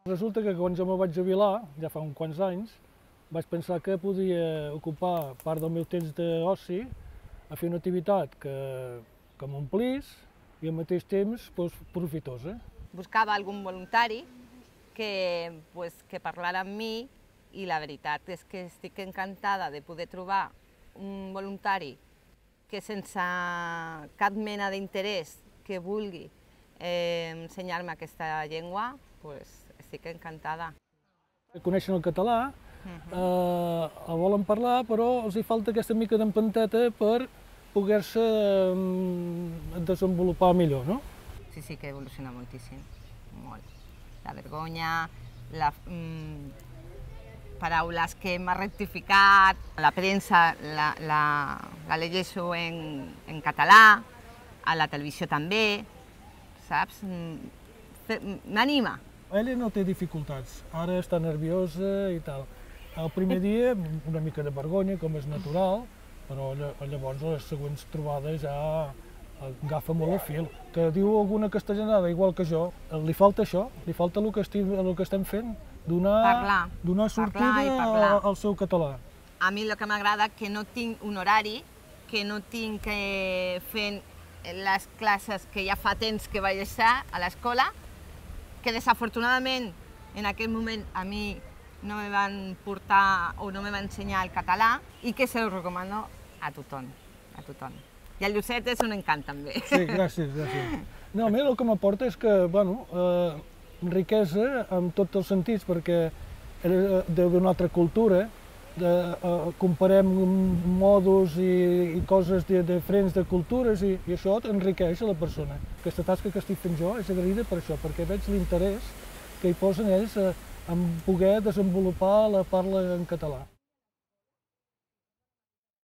Resulta que quan jo me vaig jubilar, ja fa uns quants anys, vaig pensar que podia ocupar part del meu temps d'oci a fer una activitat que m'omplís i al mateix temps profitosa. Buscava algun voluntari que parlara amb mi i la veritat és que estic encantada de poder trobar un voluntari que sense cap mena d'interès que vulgui ensenyar-me aquesta llengua, estic encantada. Coneixen el català, el volen parlar, però els hi falta aquesta mica d'empenteta per poder-se desenvolupar millor, no? Sí que evoluciona moltíssim, molt. La vergonya, paraules que m'ha rectificat, la premsa la llegeixo en català, a la televisió també, saps? M'anima. Ella no té dificultats, ara està nerviosa i tal. El primer dia una mica de vergonya, com és natural, però llavors a les següents trobades ja agafa molt el fil. Que diu alguna castellanada igual que jo, li falta això, li falta el que estem fent, donar sortida al seu català. A mi el que m'agrada que no tinc un horari, que no tinc que fer les classes que ja fa temps que vaig estar a l'escola, que desafortunadament en aquell moment a mi no me van portar o no me van ensenyar el català i que se ho recomano a tothom, a tothom. I el Llucet és un encant també. Sí, gràcies, gràcies. No, a mi el que m'aporta és que, bueno, riquesa en tots els sentits, perquè era d'una altra cultura, comparem modos i coses diferents de cultures i això enriqueix a la persona. Aquesta tasca que estic fent jo és agraïda per això, perquè veig l'interès que hi posen ells en poder desenvolupar la parla en català.